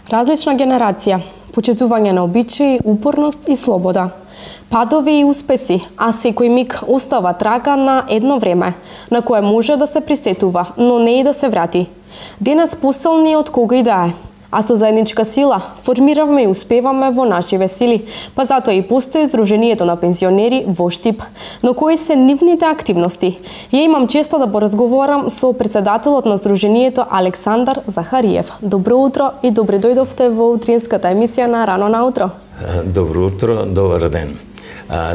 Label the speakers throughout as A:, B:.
A: Различна генерација, почитување на обичаи, упорност и слобода. Падови и успеси, а секој миг остава трага на едно време, на кое може да се присетува, но не и да се врати. Денес посилни од кога и да е. А со заедничка сила формираме и успеваме во нашиве сили, па затоа и постои Сдруженијето на пензионери во Штип. Но кои се нивните активности? Ја имам честа да поразговарам со председателот на Сдруженијето Александар Захариев. Добро утро и добре дојдовте во утринската емисија на Рано наутро.
B: Добро утро, добар ден.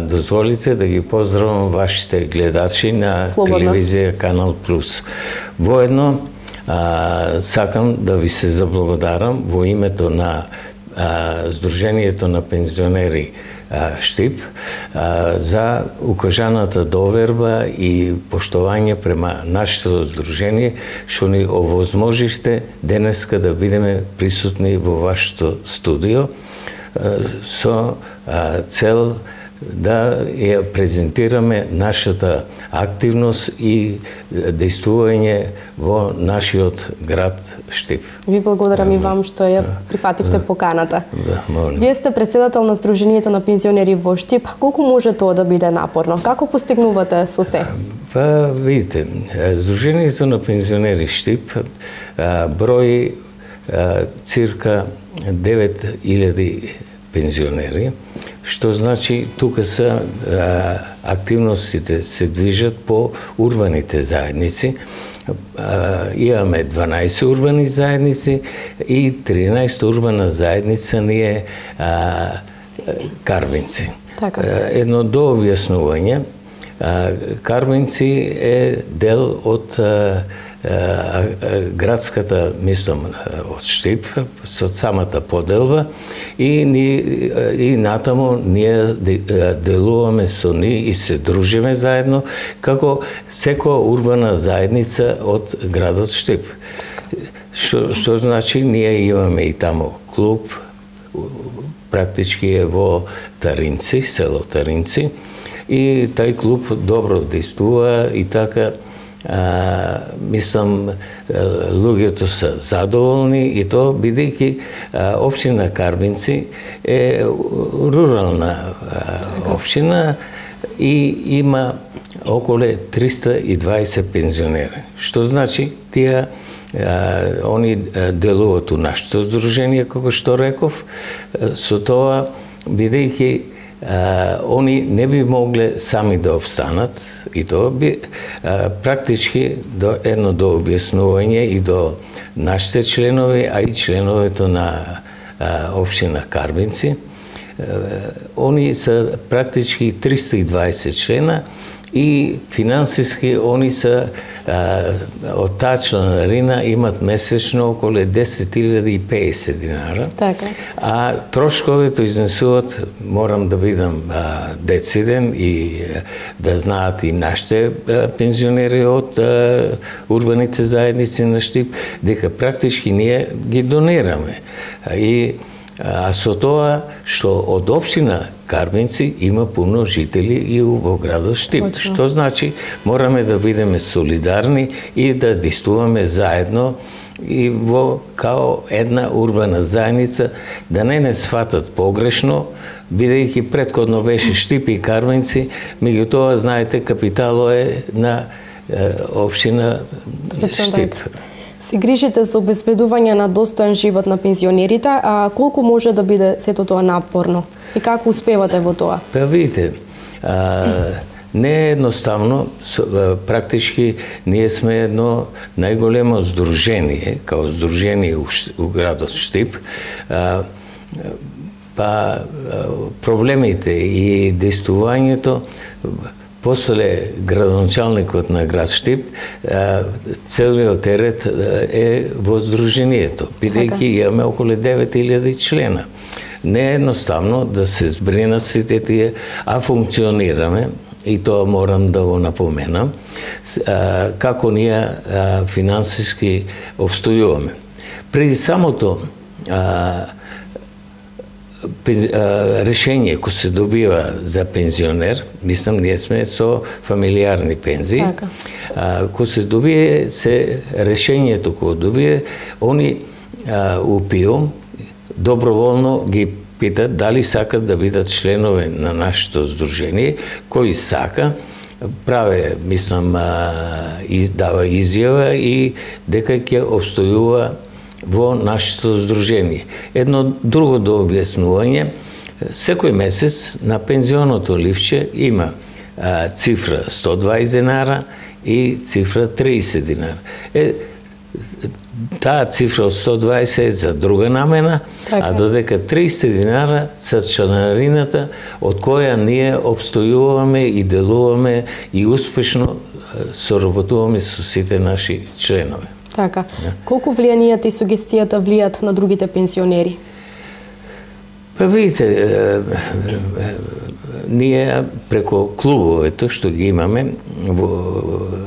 B: Дозволите да ги поздравам вашите гледачи на телевизија Канал Плюс. Воедно сакам да ви се заблагодарам во името на Сдруженијето на пензионери Штип за укажаната доверба и поштовање према нашето здружение, што ни овозможиште денеска да бидеме присутни во вашето студио со цел да ја презентираме нашата активност и действување во нашиот град Штип.
A: Ви благодарам и вам што ја прифативте поканата.
B: Молим.
A: Вие сте председател на Сдруженијето на пензионери во Штип. Колку може тоа да биде напорно? Како постигнувате со се?
B: Па, видите, Сдруженијето на пензионери Штип брои цирка 9000 пензионери, што значи тука се активностите се движат по урбаните заедници. Имаме 12 урбани заедници и 13 урбана заедница ни е Карвинци.
A: Така.
B: Едно дообјаснување. Карвинци е дел од градската, мислам, од Штип, со самата поделба и натаму ние делуваме со нив и се дружиме заедно како секоја урбана заедница од градот Штип. Што значи ние имаме и таму клуб, практички е во Таринци, село Таринци, и тај клуб добро действува и така мислам, луѓето се задоволни и тоа бидејќи општина Карвинци е рурална општина и има околу 320 пензионери. Што значи тие они делуваат у нашето здружение, како што реков, со тоа бидејќи они не би могле сами да обстанат и тоа би практички до едно до објаснување и до нашите членови, а и членовето на општина Карвинци. Они се практички 320 члена и финансиски они се од таа членарина имат месечно околу 10.050 динара.
A: Така.
B: А трошковите изнесуваат, морам да бидам дециден и да знаат и нашите пензионери од урбаните заедници на Штип, дека практички ние ги донираме. И со тоа што од општина Карвинци има пуно жители и во градот Штип.
A: Точно.
B: Што значи мораме да бидеме солидарни и да действуваме заедно и во као една урбана заедница, да не сватат погрешно, бидејќи претходно беше Штип и Карвинци, меѓутоа знаете капитало е на општина Штип.
A: Се грижите за обезбедување на достоен живот на пензионерите, а колку може да биде сето тоа напорно? И како успевате во тоа?
B: Па видите, не е едноставно, практички ние сме едно најголемо здружение, као здружение у градот Штип, па проблемите и действувањето после градоначалникот на град Штип, целиот терет е во здружението, бидејќи имаме околу 9000 члена. Не е едноставно да се збринат сите тие, а функционираме, и тоа морам да го напоменам, како ние финансиски обстојуваме. Преди самото решение кој се добива за пензионер, мислам, ние сме со фамилиарни пензии, кој се добие, решението кој добие, они УПИОМ доброволно ги питат дали сакат да бидат членови на нашето здружение, кој сака, праве, мислам, и дава изјава и дека ќе обстојува во нашето здружение. Едно друго до објаснување, секој месец на пензионото ливче има цифра 120 динара и цифра 30 динара. Таа цифра од 120 е за друга намена, а додека 30 динара са членарината од која ние обстојуваме и делуваме и успешно соработуваме со сите наши членови.
A: Така. Колку влијанието и сугестијата влијат на другите пензионери?
B: Па видите, ние преко клубовето што ги имаме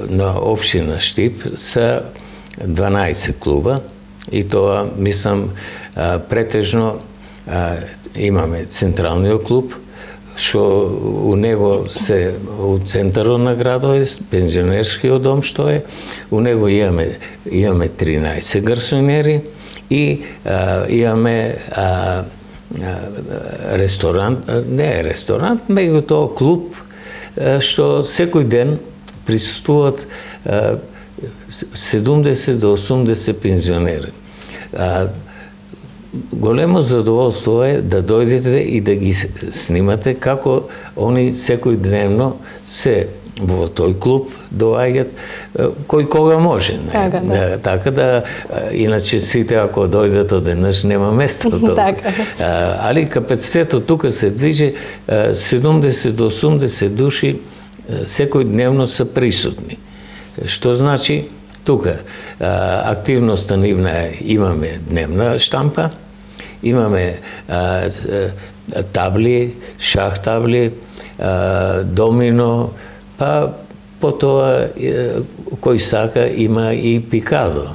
B: на општина Штип са 12 клуба и тоа, мислам, претежно имаме централниот клуб, што у него се у центарот на градот, пензионерскиот дом што е, у него имаме 13 гарсонери и имаме ресторант, не е ресторант, меѓутоа клуб што секој ден присуствуваат 70 до 80 пензионери. Големо задоволство е да дојдете и да ги снимате како они секојдневно се во тој клуб доаѓат кој кога може. Така да, иначе сите ако дојдат одеднаш нема место. Али капацитетот тука се движи 70 до 80 души секојдневно се присутни. Што значи тука активноста нивна имаме дневна штампа, имаме табли, шах табли, домино, па потоа кој сака има и пикадо.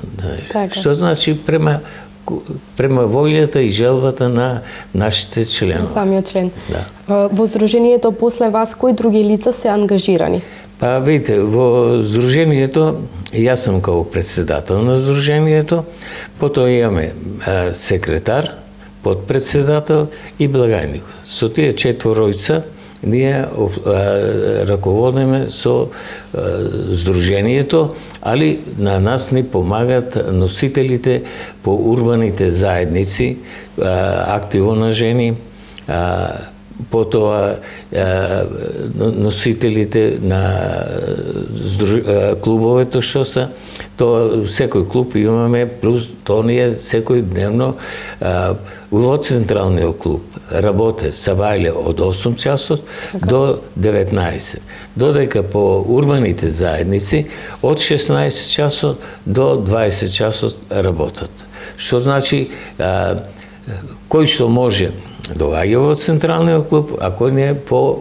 B: Што значи према волјата и желбата на нашите членови.
A: Самиот член. Во здружението после вас кои други лица се ангажирани?
B: Па видите, во здружението јас сум како председател на здружението, потоа имаме секретар, подпредседател и благајник. Со тие четворојца ние раководиме со здружението, али на нас ни помагат носителите по урбаните заедници, активо на жени, потоа носителите на клубовето што са, тоа секој клуб имаме, плюс тоа ние секојдневно во централниот клуб работе сабајле од 8 часот до 19. Додека по урбаните заедници од 16 часот до 20 часот работат. Што значи кој што може доаѓа во централниот клуб, а кој не по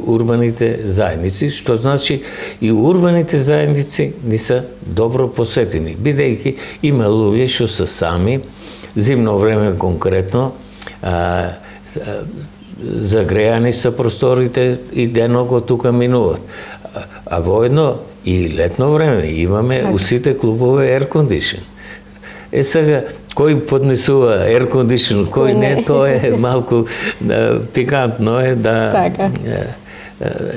B: урбаните заедници, што значи и урбаните заедници не се добро посетени, бидејќи има луѓе што се сами, зимно време конкретно, загрејани са просторите и денога тука минуваат. А воедно и летно време имаме у сите клубове air condition. Сега, кој поднесува air condition, кој не, тоа е малку пикантно е да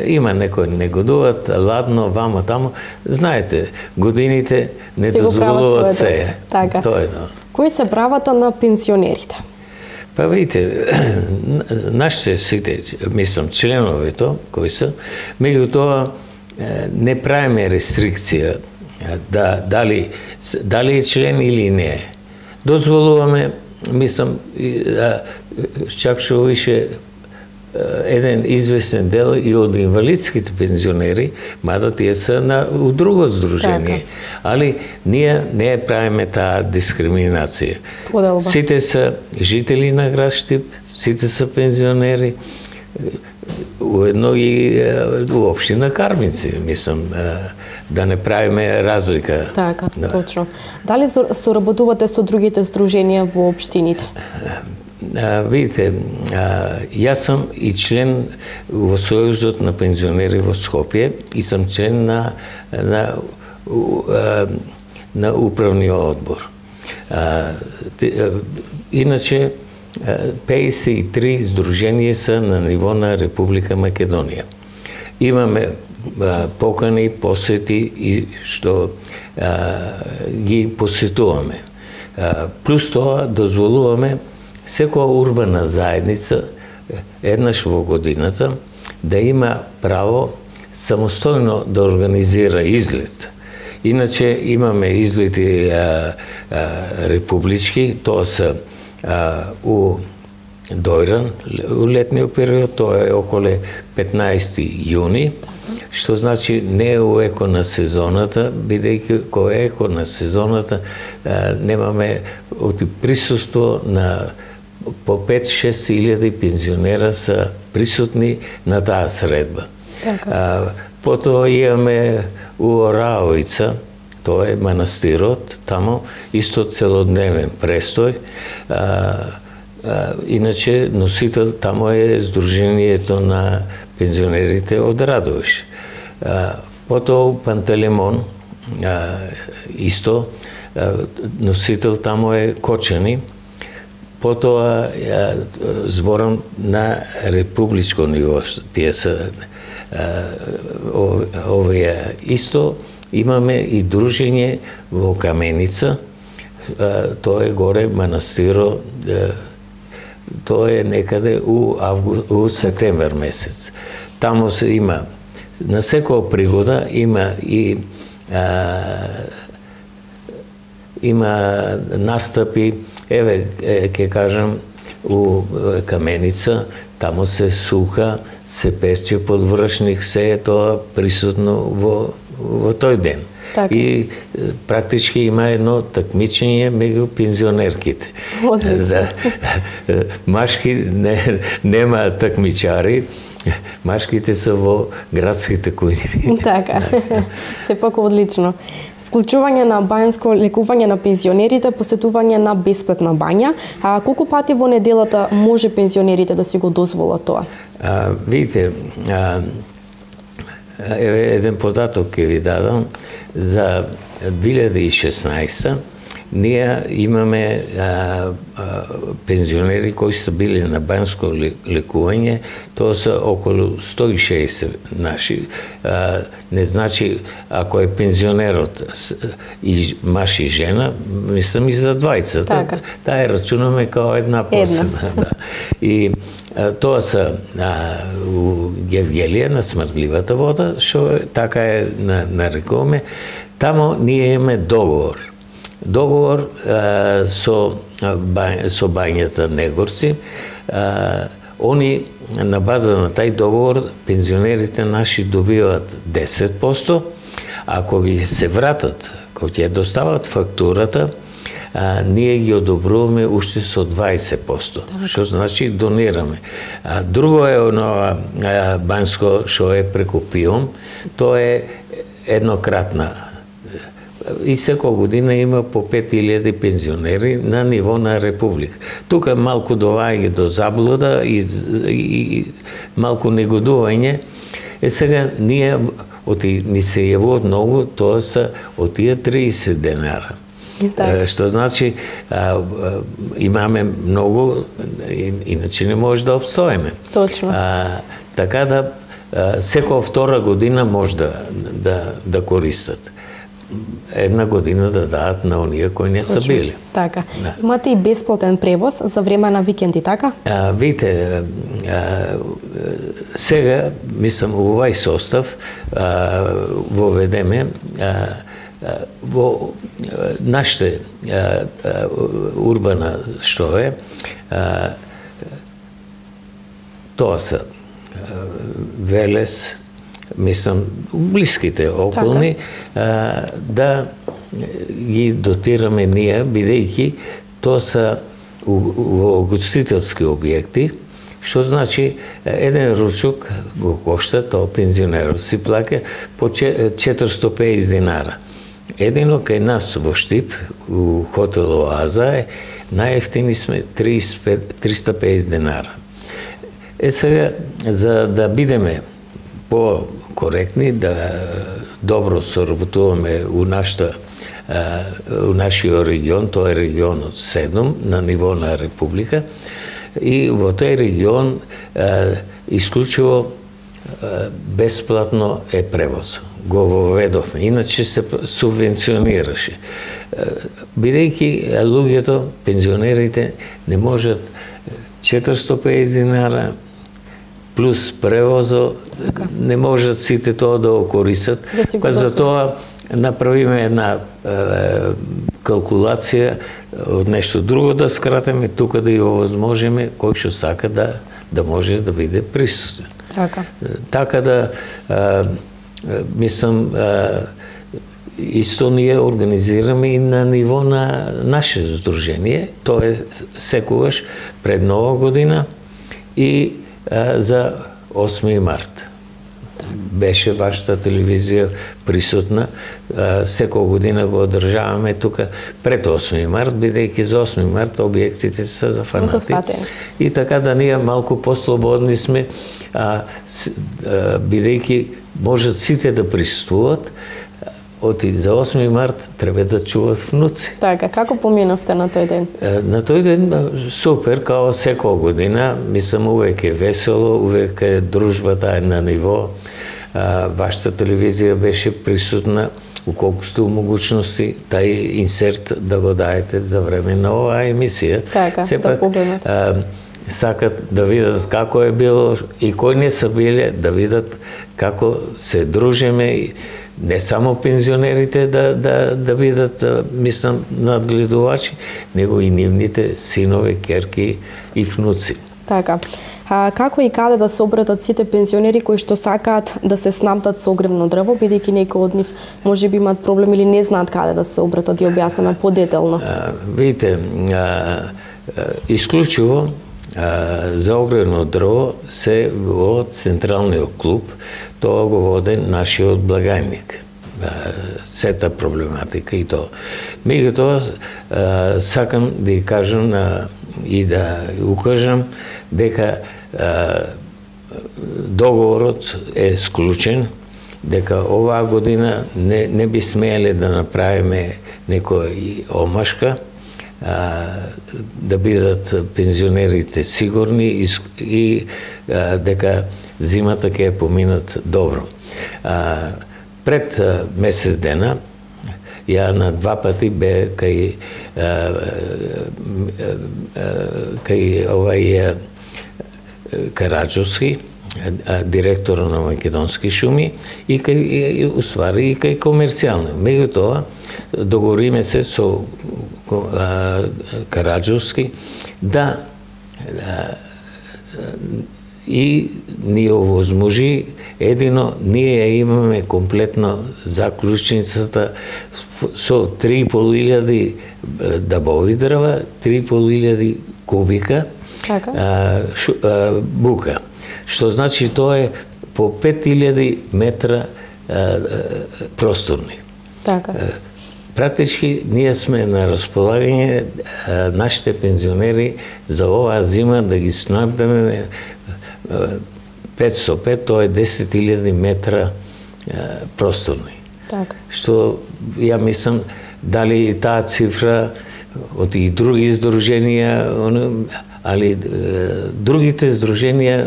B: има некои негодуваат, ладно, вамо, тамо. Знаете, годините не дозволуваат се. Тоа е.
A: Кои се правата на пензионерите?
B: Па видите, нашите сите, мислам, членовето кои се, меѓутоа не правиме рестрикција дали е член или не е. Дозволуваме, мислам, чак што више еден известен дел и од инвалидските пензионери, мада тие се у друго здружение. Али ние не правиме таа дискриминација. Сите се жители на град Штип, сите се пензионери, уедно и општина Кармици, мислам, да не правиме разлика.
A: Така, точно. Дали соработувате со другите здруженија во општините?
B: Видите, јас сам и член во Сојузот на пензионери во Скопје и сам член на управниот одбор. Иначе, 53 здруженија се на ниво на Република Македонија. Имаме покани, посети и што ги посетуваме. Плюс тоа дозволуваме секоја урбана заедница еднаш во годината да има право самостојно да организира излет. Иначе имаме излети републички, тоа се у Дојран, у летниот период, тоа е околу 15 јуни, што значи не е у еко на сезоната, бидејќи кога е еко на сезоната немаме присуство на по 5-6 илјади пензионера се присутни на таа средба. Потоа имаме у Ораовица, тоа е манастирот, тамо исто целодневен престој. Иначе носител тамо е Сдруженијето на пензионерите од Радовиш. Потоа у Пантелеймон исто носител тамо е Кочани. Потоа зборам на републичко ниво, тие се овие исто. Имаме и дружење во Каменица, тоа е горе манастиро, тоа е некаде у септемвер месец. Тамо се има, на секоја пригода има и има настапи, еве ќе кажам, у Каменица, тамо се суха, се пече подвршник, се е тоа присутно во тој ден.
A: Така.
B: И практички има едно такмичење меѓу пензионерките.
A: Одлично.
B: Машки нема такмичари, машките се во градските кујни.
A: Така. Сепак одлично. Вклучување на бањско лекување на пензионерите, посетување на бесплатна бања. Колку пати во неделата може пензионерите да си го дозволат тоа?
B: Видите, еден податок ќе ви дадам. За 2016 ние имаме пензионери кои се били на бањско лекување, тоа се околу 160 наши. Не значи, ако е пензионерот и маж и жена, мислам и за двајца.
A: Така.
B: Таа рачунаме као една посебна. Да. И тоа се у Гевгелија на смртливата вода, што така е нарекуваме. Тамо ние имаме договор. Договор со бањата Негорци. Они на база на тај договор пензионерите наши добиваат 10%, ако ги се вратат, кога ќе достават фактурата, ние ги одобруваме уште со 20%, што значи донираме. Друго е онова бањско што е преку ПИОМ, тоа е еднократна. И секоја година има по 5000 пензионери на ниво на Република. Тука малку доваѓа до заблуда и малку негодување. Сега ние ни се јавуваат многу, тоа се од тие 30 денара. Што значи имаме многу, иначе не може да обстоиме.
A: Точно.
B: Така да секоја втора година може да користат. Една година да дадат на оние кои не се били.
A: Така. Да. Имате и бесплатен превоз за време на викенди, така?
B: Видите, сега, мислам, овај состав воведеме во нашите урбана што е, тоа се Велес, мислам, блиските околни, да ги дотираме ние, бидејќи тоа се во гостителски објекти, што значи еден ручок го кошта, тоа пензионерот си плаќа по 450 динара. Едино кај нас во Штип, у хотел Оаза е, најефтини сме 350 динара. Сега, за да бидеме по-коректни, да добро соработуваме у нашиот регион, тоа е регионот 7 на ниво на Република, и во тој регион исклучиво бесплатно е превоз. Го воведовме, иначе се субвенционираше. Бидејќи луѓето, пензионерите, не можат 450 динара плюс превозо, не можат сите тоа да го користат, па за тоа направиме една калкулација од нешто друго да скратиме, тука да ја овозможиме кој што сака да може да биде присутен. Така да мислам исто ние организираме и на ниво на наше здружение, тоа е секогаш пред Нова година и за 8 март. Беше вашата телевизија присутна, секоја година го одржаваме тука пред 8 март, бидејќи за 8 март објектите се зафанати. И така да ние малку послободни сме, бидејќи можат сите да присуствуват, за 8 март треба да чуват внуци.
A: Така, како поминавте на тој ден?
B: На тој ден супер, као секоја година, мислам увек е весело, увек е дружбата е на ниво. Вашата телевизија беше присутна уколкусту могуćности тај инсерт да го даете за време на оваа емисија.
A: Така, да погледнат.
B: Сакат да видат како е било и кои не са биле, да видат како се дружиме, не само пензионерите да видат, мислам, надгледувачи, него и нивните синови, керки и внуци.
A: Така. Како и каде да се обратат сите пензионери кои што сакаат да се снабдат со огревно дрво, бидејќи некои од нив можеби имаат проблем или не знаат каде да се обратат, и објаснеме подетелно?
B: Видите, исклучиво за огревно дрво се во Централниот клуб, тоа го води нашиот благајник. Сета проблематика и тоа. Меѓутоа, сакам да ја кажам и да укажам дека договорот е склучен, дека оваа година не би смееле да направиме некоја омашка, да бидат пензионерите сигурни и дека зимата ќе поминат добро. Пред месец дена, ја на 2 пати бе кај овај Караджовски, директор на Македонски шуми, и кај уствари и кај комерцијално. Меѓутоа, договориме се со Караджовски да и ни овозможи, едино ние ја имаме комплетно заклучницата со 3.500 дабови дрва, 3.500 кубика бука. Што значи тоа е по 5000 метра просторни.
A: Така.
B: Практички ние сме на располагање нашите пензионери за оваа зима да ги снабдиме 505, тоа е 10.000 метра просторни.
A: Така.
B: Што ја мислам дали таа цифра од и други здруженија, али другите здруженија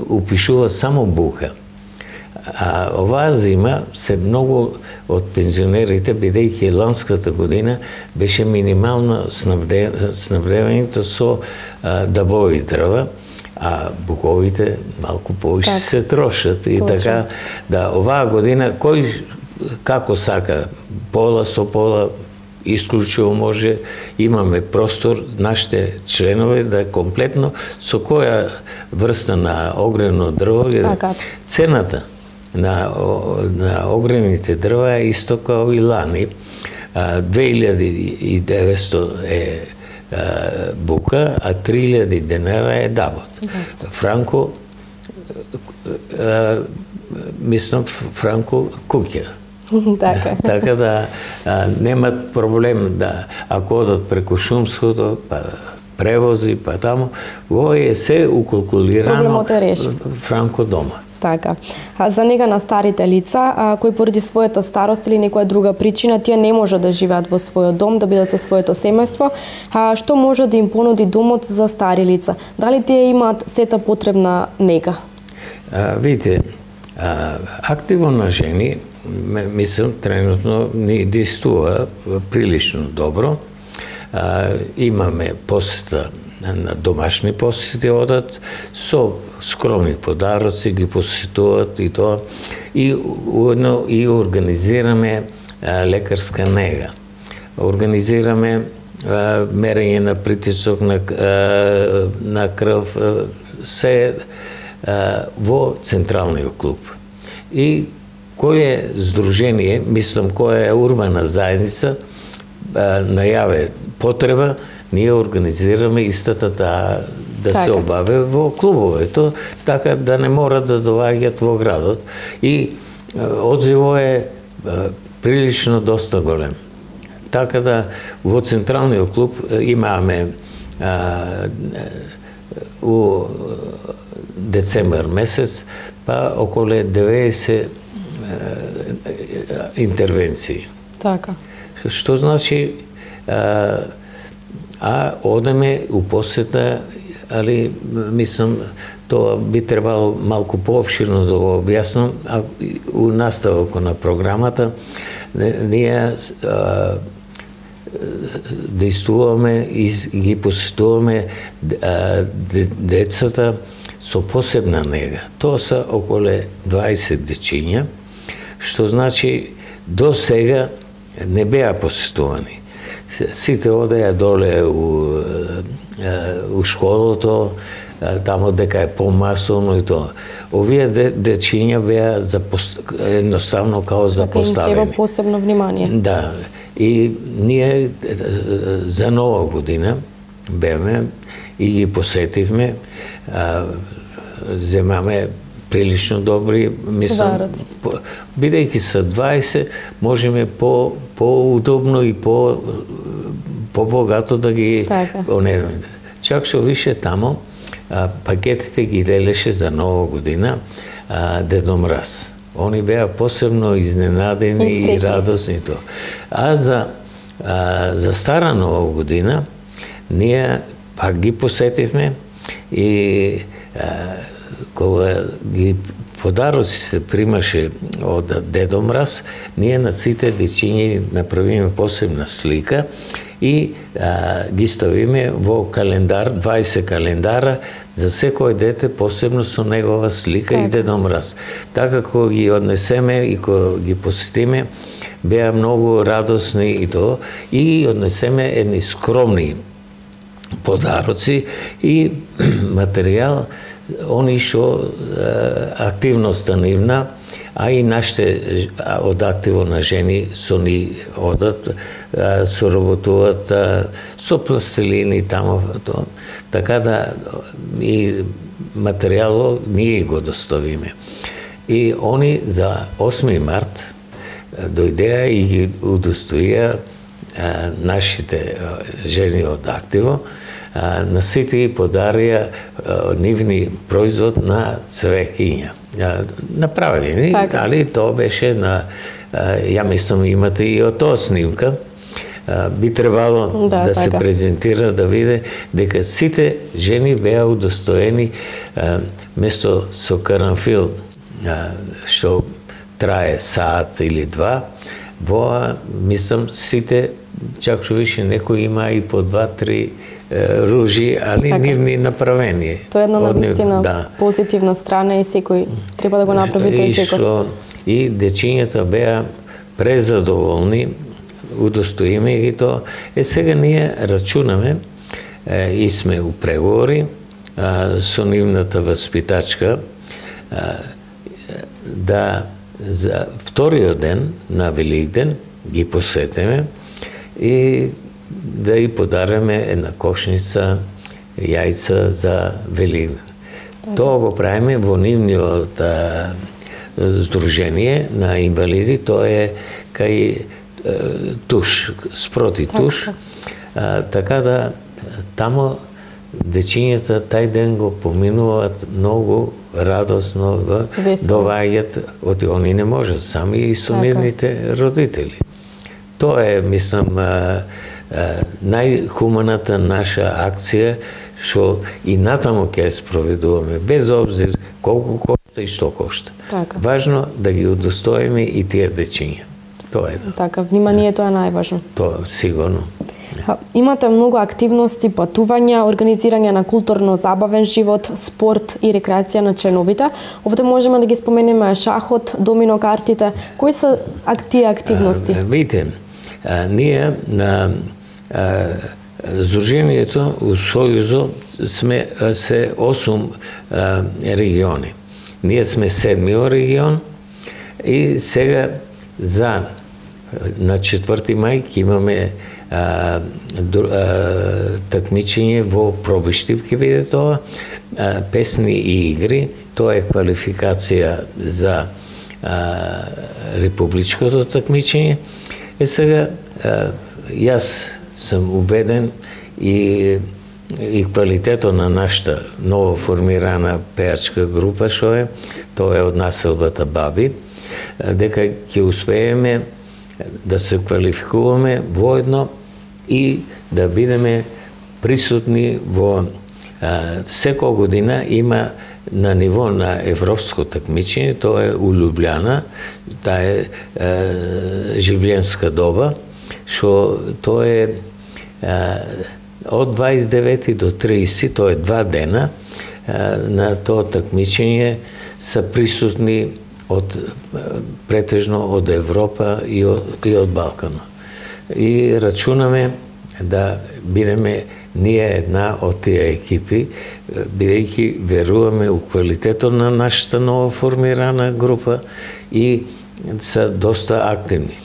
B: упишуваат само бука. А оваа зима се многу од пензионерите, бидејќи ланската година беше минимално снабдевањето со дабови дрва, а буковите малку повише се трошат. И така, да, оваа година, кој како сака, пола со пола, исклучиво може, имаме простор, нашите членови да комплетно со која врста на огревно дрво, цената на огревните дрва е исто као и лани. 2900 е бука, а 3000 денара е дабот. Франко, мислам, Франко куќа. Така да немат проблем да, ако одат преку Шумското, па превози, па таму, во е се укалкулирано Франко дома.
A: Така. За нега на старите лица, кои поради својата старост или некоја друга причина, тие не може да живеат во својот дом, да бидат со своето семејство, што може да им понуди домот за стари лица? Дали тие имаат сета потребна нега?
B: Видите, активо на жени, мислам, тренутно ни действува прилично добро. Имаме посета на домашни посети одат, со скромни подароци ги посетуваат и тоа. И уедно и организираме лекарска нега. Организираме мерење на притисок на крв, се во Централниот клуб. И кое здружение, мислам, која е урбана заедница, најаве потреба, ние организираме истата да се обаве во клубовето, така да не мора да доаѓат во градот. И одзиво е прилично доста голем. Така да во Централниот клуб имаме у децембар месец па околу 90 интервенции.
A: Така.
B: Што значи одеме у посета, али мислам тоа би требало малку поопширно да го објаснам, у наставок на програмата ние действуваме и ги посетуваме децата со посебна нега. Тоа се околу 20 дечиња, што значи до сега не беа посетувани. Сите одеја доле у школото, тамо дека е помасовно и тоа. Овие дечиња беа едноставно као запоставени.
A: Им треба посебно внимание.
B: Да. И ние за Нова година беме и ги посетивме, земаме прилично добри, мислам, бидејќи са 20, можеме по-удобно и по-богато да ги онедаме. Чак што више тамо, пакетите ги делеше за Нова година Дедо Мраз. Они беа посебно изненадени и радосни тоа. За Стара Нова година ние пак ги посетивме и кога ги подароците примаше од Дедо Мраз, ние на сите дечиња направиме посебна слика и ги ставиме во календар, 20 календара, за секој дете посебно со негова слика и Дедо Мраз. Така кога ги однесеме и кога ги посетиме, беа многу радосни и тоа, и однесеме едни скромни подароци и материјал, они што активноста нивна, а и нашите од активо на жени со ни одат, соработуваат со пластилини тамо тоа. Така да и материјалот ние го доставиме. И они за 8 март дојдеа и ги удостоија нашите жени од активо, на сите ги подарија нивни производ на цвеќиња. Направени, али тоа беше на, ја мислам имате и од тоа снимка, би требало да се презентира, да виде дека сите жени беа удостоени место со карамфил, што трае саат или два, во, мислам, сите, чак што више некој има и по 2-3 ружи, али нивни направени.
A: Тоа е една навистина позитивна страна и секој треба да го направи тој чекор.
B: И дечињата беа презадоволни, удостоиме ги тоа. Сега ние рачунаме и сме у преговори со нивната васпитачка да за вториот ден на Великден ги посетиме и да и подариме една кошница јајца за Великден. Тоа го правиме во нивниот здружение на инвалиди, тоа е кај туш, спроти туш. Така да тамо дечињата тај ден го поминуваат многу радосно доваѓат, они не можат сами и со нивните родители. Тоа е, мислам, најхуманата наша акција, што и натаму ќе спроведуваме, без обзир колку кошта и што кошта. Важно да ги удостоиме и тие дечиња. Тоа е.
A: Така, вниманието е најважно.
B: Тоа, сигурно.
A: Имате многу активности, патувања, организирање на културно-забавен живот, спорт и рекреација на членовите. Овде можеме да ги споменеме шахот, домино картите. Кои се тие активности?
B: Видите, ние на Здруженијето у Сојузо сме се 8 региони. Ние сме 7-миот регион и сега на 4 мај ќе имаме такмичење во Пробиштип, ќе биде тоа, песни и игри, тоа е квалификација за републичкото такмичење. Сега, јас сум убеден и квалитетот на нашата ново формирана пеачка група, што е, тоа е од населбата Баби, дека ќе успееме да се квалификуваме воедно и да бидеме присутни во секоја година има на ниво на европско такмичење, тоа е у Лјубљана, таа е живленска доба, што тоа е од 29 до 30, тоа е 2 дена, на тоа такмичење се присутни претежно од Европа и од Балкана. И рачунаме да бидеме ние една од тие екипи, бидејќи веруваме у квалитетот на нашата нова формирана група и се доста активни.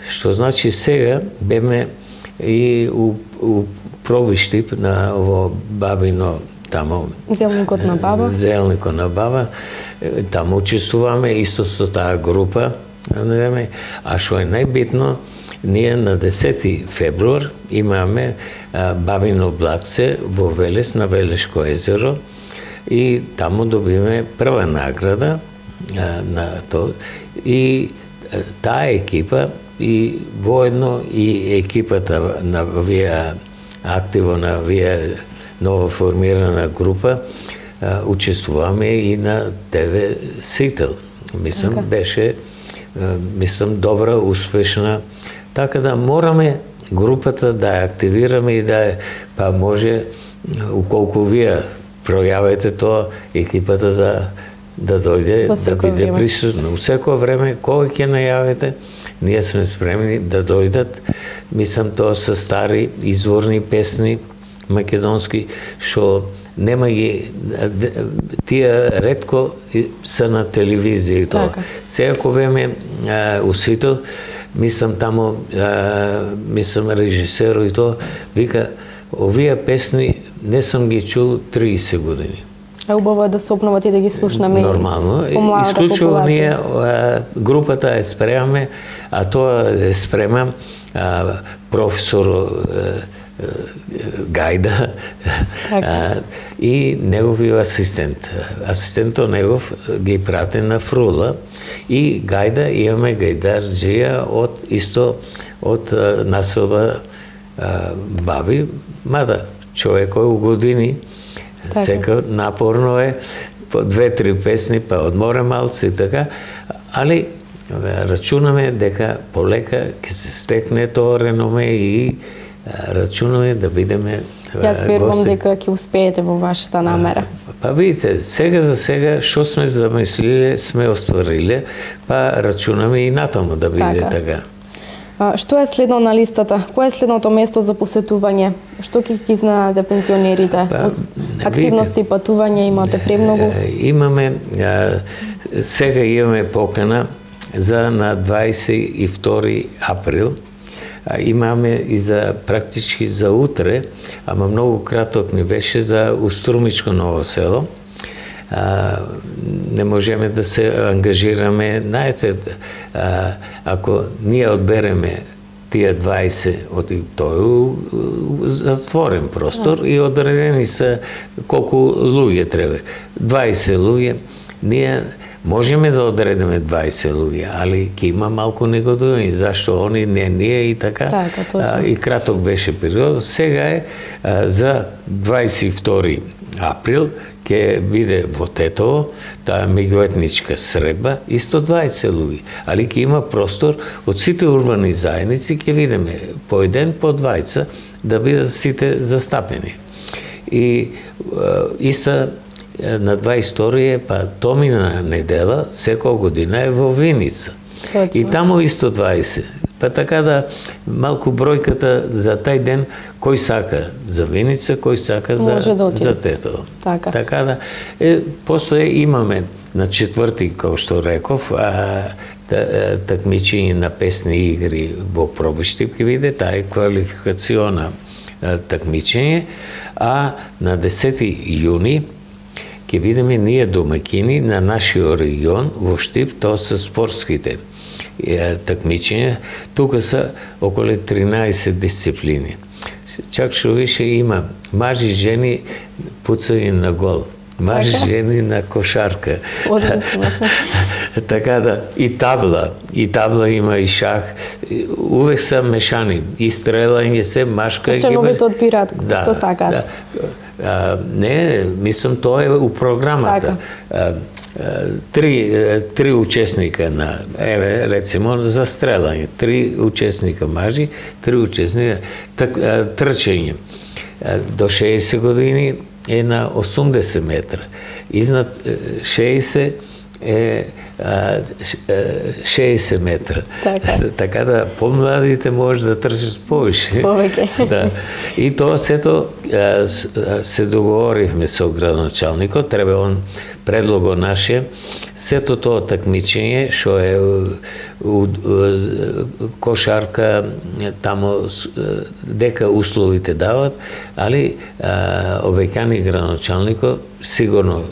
B: Што значи сега беме и у Пробиштип на ово Бабино таму.
A: Зелникот на Баба.
B: Зелникот на Баба. Таму учествуваме исто со таа група. А што е најбитно, ние на 10 февруар имаме Бабино блакце во Велес, на Велешко езеро, и таму добиме прва награда на тоа. И таа екипа и воедно и екипата на вие активо на вие ново формирана група учествуваме и на ТВ Сител. Мислам, беше добра, успешна. Така да мораме групата да ја активираме и да па може, уколку вие пројавите тоа, екипата да дојде, да биде присутна. У секој време, кога ќе најавите, ние сме спремни да дојдат. Мислам, тоа се стари изворни песни македонски, што нема ги, тие ретко се на телевизија и тоа. Сега кога беме у Сител, мислам таму, мислам режисерот и тоа, вика, овие песни не сум ги чул 30 години.
A: Убаво е да се обноват и да ги слушнаме.
B: Нормално. Исклучиво ние групата е спремаме, а тоа е спрема професор Гајда и неговиот асистент. Асистентот негов ги прате на Фрула и Гајда, имаме гајдарџија од населба Баби, мада човекот у години, сека напорно е, по 2-3 песни, па одморе малци и така, али рачунаме дека полека ќе се стекне тоа реноме и рачунаме да бидеме гости.
A: Јас верувам дека ќе успеете во вашата намера.
B: Па видите, сега за сега што сме замислиле, сме оствариле, па рачунаме и натаму да биде така.
A: Што е следно на листата? Кој е следното место за посетување? Што ќе ги знаете пензионерите? Активности, патување имате премногу?
B: Имаме, сега имаме покана за на 22 април. Имаме и за практички за утре, ама многу краток ни беше за Уструмичко Ново село. Не можеме да се ангажираме. Знаете, ако ние одбереме тие 20 од тој затворен простор и одредени се колку луѓе треба. 20 луѓе ние можеме да одредиме 20 луѓе, али ќе има малку негодување, зашто они не ние и така. И краток беше период. Сега е за 22 април ќе биде во Тетово, таа меѓуетничка средба, исто 20 луѓе, али ќе има простор од сите урбани заедници, ќе видиме по еден, по 20, да бидат сите застапени. И иста на 22 па томина недела, секоја година е во Виница. И таму исто 20. Па така да малку бројката за тај ден, кој сака за Виница, кој сака за Тетово. Така да, после имаме на 4, како што реков, такмичење на песни игри во Пробиштип, ќе виде, таа е квалификациона такмичење, а на 10 јуни ќе бидеме ние домакини на нашиот регион во Штип, тоа се спортските такмичења. Тука се околу 13 дисциплини. Чак што више има мажи, жени, пуцање на гол, мажи, жени на кошарка.
A: Одлично.
B: Така да, и табла има, и шах, увек се мешани, и стрелање се, машка.
A: Членовите одбираат што сакаат.
B: Не, мислам, тоа е у програмата. Три учесника на, рецимо, за стрелање, 3 учесника мажи, 3 учесника трчење. До 60 години е на 80 метра. Изнад 60 е 60 метра. Така да помладите може да трчат повише.
A: Повеќе.
B: И тоа сето се договоривме со градоначалникот, треба он предлого наше, сето тоа такмичење што е кошарка, таму дека условите дават, али обеќани градоначалникот сигурно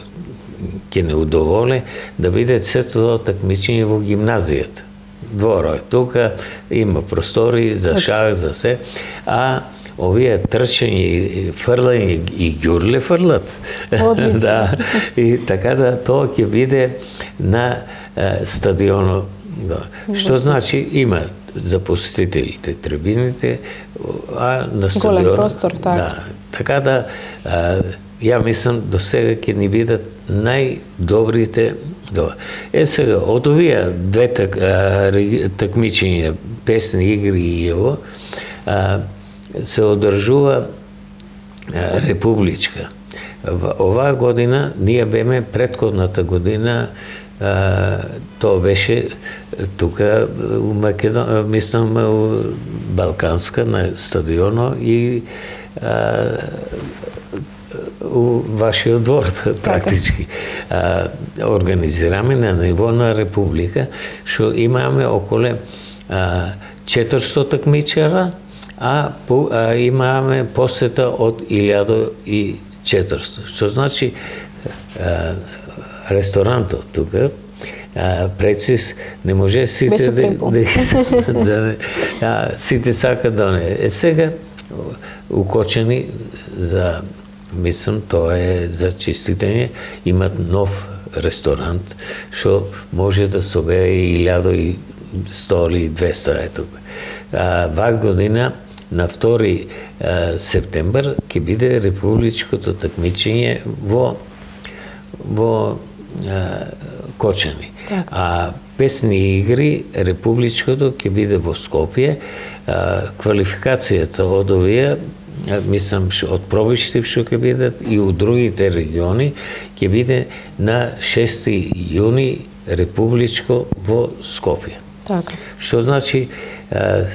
B: ќе не удоволе да видат сето тоа такмичење во гимназијата. Дворот, тука има простори за шах, за се, а овие трчање, фрлање и ѓурле фрлат. Да, и така да тоа ќе биде на стадионот. Што значи има за посетителите трибините, а на стадионот.
A: Голем простор, така.
B: Да, така да ја мислам до сега ќе ни бидат најдобрите. Сега, од овие две такмичења, песни игри и ево, се одржува републичка. Оваа година, ние беме предходната година, тоа беше тука у Македонија, мислам у Балканска на стадионот и у вашиот двор практички. Организираме на ниво на република, што имаме околу 400 такмичара, а имаме посета од 1400. Што значи ресторантот тука, прецис, не може сите сите сакат да не. Сега укочени за, мислам, тоа е за чиститење, имат нов ресторант, што може да собере 1100 или 200 е тука. Ваа година на 2 септембр ќе биде републичкото такмичење во Кочани. А песни игри републичкото ќе биде во Скопје. Квалификацијата од овие, мислам, од Пробиштип што ќе бидат и у другите региони, ќе биде на 6 јуни републичко во Скопје. Што значи,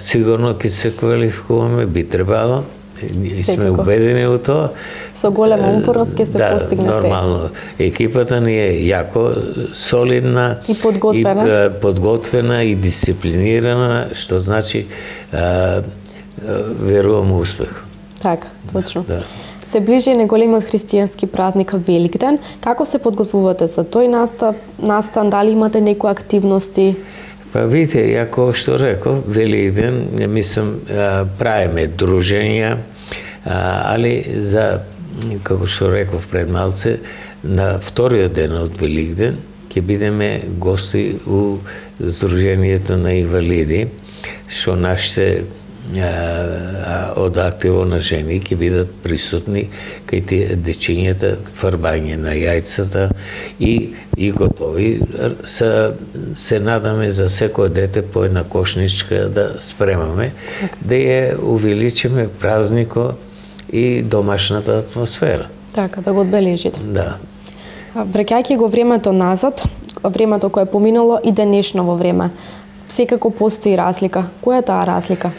B: сигурно ќе се квалификуваме, би требало, и сме убедени у тоа.
A: Со голема упорност ќе се постигне се.
B: Нормално. Екипата ни е јако солидна
A: и
B: подготвена и дисциплинирана, што значи верувам успех.
A: Така, точно. Се ближи неголемиот христијански празник Великден. Како се подготвувате за тој настан? Дали имате некои активности?
B: Па видите, јако што реков, Великден, мислам, правиме дружења, али за, како што реков пред малце, на вториот ден од Великден ќе бидеме гости у Сдруженијето на инвалиди, што нашите од активо на жени ќе бидат присутни кај тие дечињата, фарбање на јајцата и готови. Се надаме за секој дете по една кошничка да спремаме, да ја увеличиме празнико и домашната атмосфера.
A: Така, да го одбележите.
B: Да.
A: Враќајќи го времето назад, времето кое е поминало и денешново време, секако постои разлика. Која е таа разлика?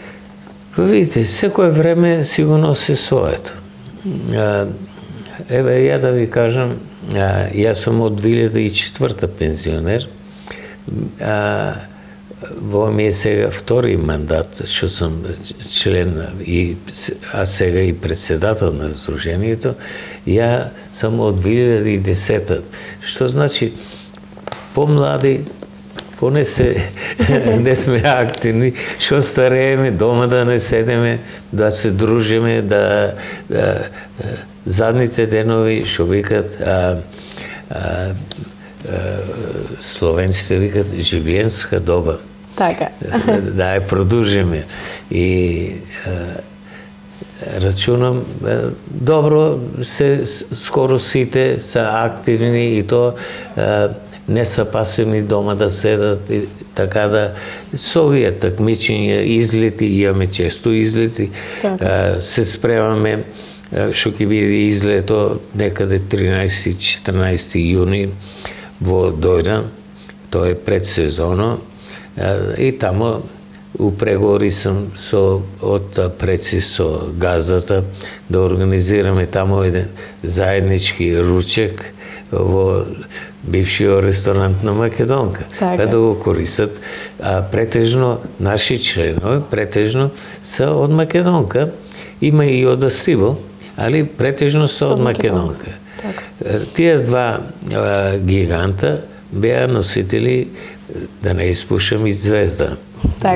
B: Видите, секое време сигурно се своето. Еве, ја да ви кажам, јас сум од 2004 пензионер, во ми е сега втори мандат, што сум член, а сега и председател на Сдруженијето. Ја сум од 2010, што значи помлади, поне не сме активни, што старееме, дома да не седеме, да се дружиме, да задните денови, што викат, словенците викат живиенска доба.
A: Така.
B: Да ја продужиме. И рачунам, добро, скоро сите се активни и то не са пасивни дома да седат, и така да со овие такмичења, излети, имаме често излети, се спремаме, што ќе биде излето некаде 13-14 јуни во Дојран, тоа е предсезоно, и тамо у преговори сум од предси со газдата да организираме тамо еден заеднички ручек во бившиот ресторант на Македонка, да го користат. Претежно наши членови, претежно се од Македонка, има и од Астиво, али претежно се од Македонка. Тие два гиганта беа носители, да не испушам, и звезда,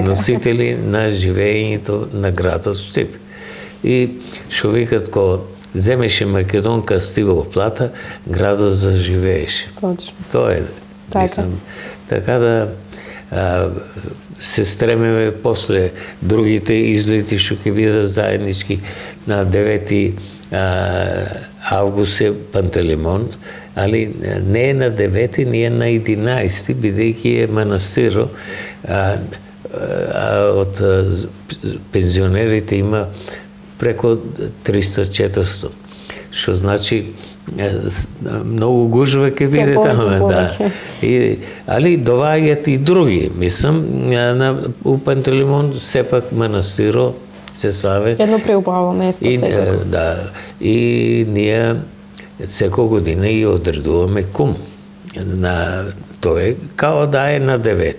B: носители на живеењето на градот Штип. И што викат, кога земеше Македонка Астиво плата, градот заживееше.
A: Точно.
B: Тоа е. Така да се стремеме после другите излети што ќе бидат заеднички на 9 август е Пантелеймон, али не е на 9, ние на 11, бидејќи е манастиро, од пензионерите има преко 300-400, што значи многу гужва ќе биде таму, да. Али доваѓаат и други, мислам, у Пантелеймон сепак манастиро се славе.
A: Едно преубаво место секако.
B: Да, и ние секој година и одредуваме кум. Тоа е као да е на 9,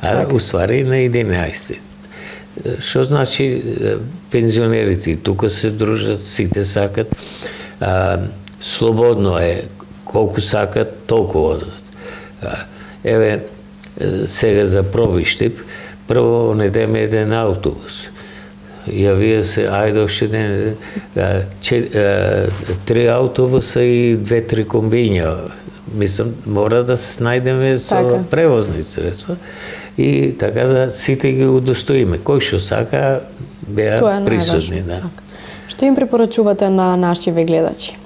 B: а уствари на 11. Што значи пензионерите тука се дружат, сите сакат, слободно е, колку сакат, толку одат. Еве, сега за Пробиштип, прво недеме еден автобус. Јавија се, ајде уште ден, 3 автобуса и 2-3 комбиња. Мислам, мора да се најдеме со превозни средства и така да сите ги удостоиме. Кој што сака, беа присутни.
A: Што им препорачувате на нашиве гледачи?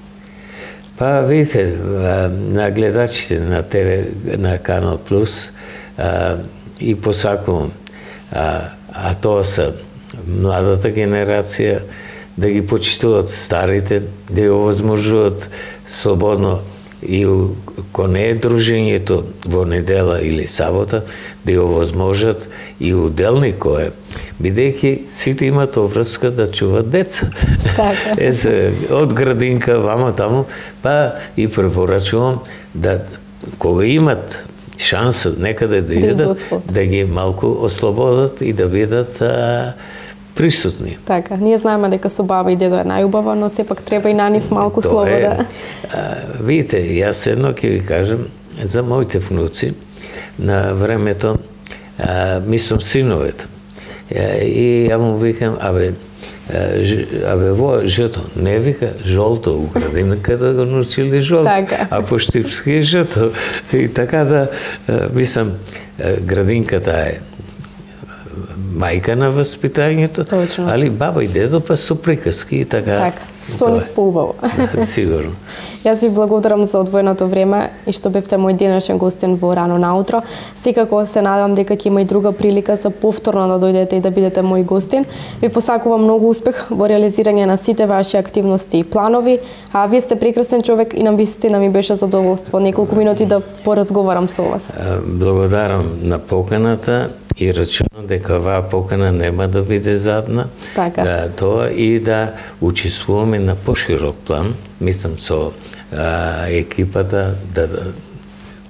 B: Па, видите, на гледачите на ТВ, на Канал Плюс, и посакувам, а тоа се младата генерација, да ги почитуваат старите, да ги овозможуваат слободно и ко не е дружењето во недела или сабота, да го овозможат и уделни кое, бидејќи сите имат врска да чуват деца. Од градинка, вамо таму, па и препорачувам да, кога имат шанса некаде да идат, да ги малку ослободат и да бидат присутни.
A: Така, ние знаеме дека со баба и дедо е најубаво, но сепак треба и на нив малку слобода.
B: Видите, јас едно ќе ви кажам, за моите внуци, на времето, мислам синовете, и ја му викам, абе во жито, не вика жолто у градинката да го научили жолто,
A: така.
B: А по штипски е жито. И така да, мислам, градинката е мајка на воспитањето,
A: Точно.
B: али баба и дедо па со приказки и така.
A: Така, со нив поубаво.
B: Сигурно.
A: Јас ви благодарам за одвоеното време и што бевте мој денешен гостин во Рано наутро. Секако се надевам дека ќе има и друга прилика за повторно да дојдете и да бидете мој гостин. Ви посакувам многу успех во реализирање на сите ваши активности и планови, а вие сте прекрасен човек и нам вистина ми беше задоволство неколку минути да поразговарам со вас.
B: Благодарам на поканата и рачунам дека оваа покана нема да биде задна.
A: Така.
B: Да, тоа и да учествуваме на поширок план, мислам со екипата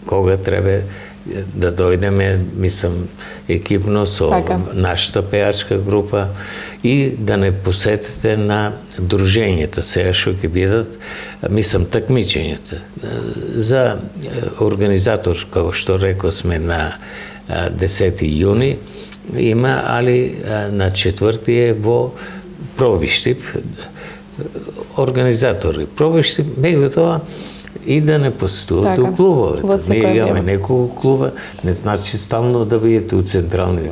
B: кога треба да дојдеме, мислам екипно со
A: така.
B: Нашата пеачка група и да не посетите на дружењето сега што ќе бидат, мислам такмичењата. За организатор, како што реков сме на 10 јуни има, али на 4 е во Пробиштип организатори. Пробиштип, меѓутоа и да не постувате
A: така.
B: У клубовете. Ние имаме
A: време.
B: неколку клуба, не значи стално да бидете у централни.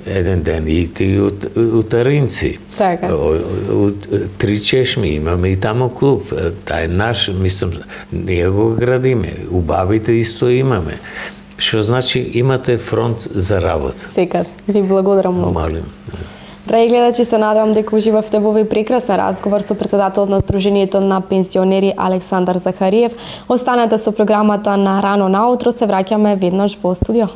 B: Еден ден идите и у Таринци.
A: Така.
B: У Три чешми имаме и тамо клуб. Тај е наш, мислам, ние го градиме. У Бабите исто имаме. Што значи имате фронт за работа.
A: Секад. Ви благодарам многу.
B: Молим.
A: Драги гледачи, се надевам дека уживавте во овој прекрасен разговор со претседателот на Сдруженијето на пензионери Александар Захариев. Останете со програмата на Рано наутро, се враќаме веднаш во студио.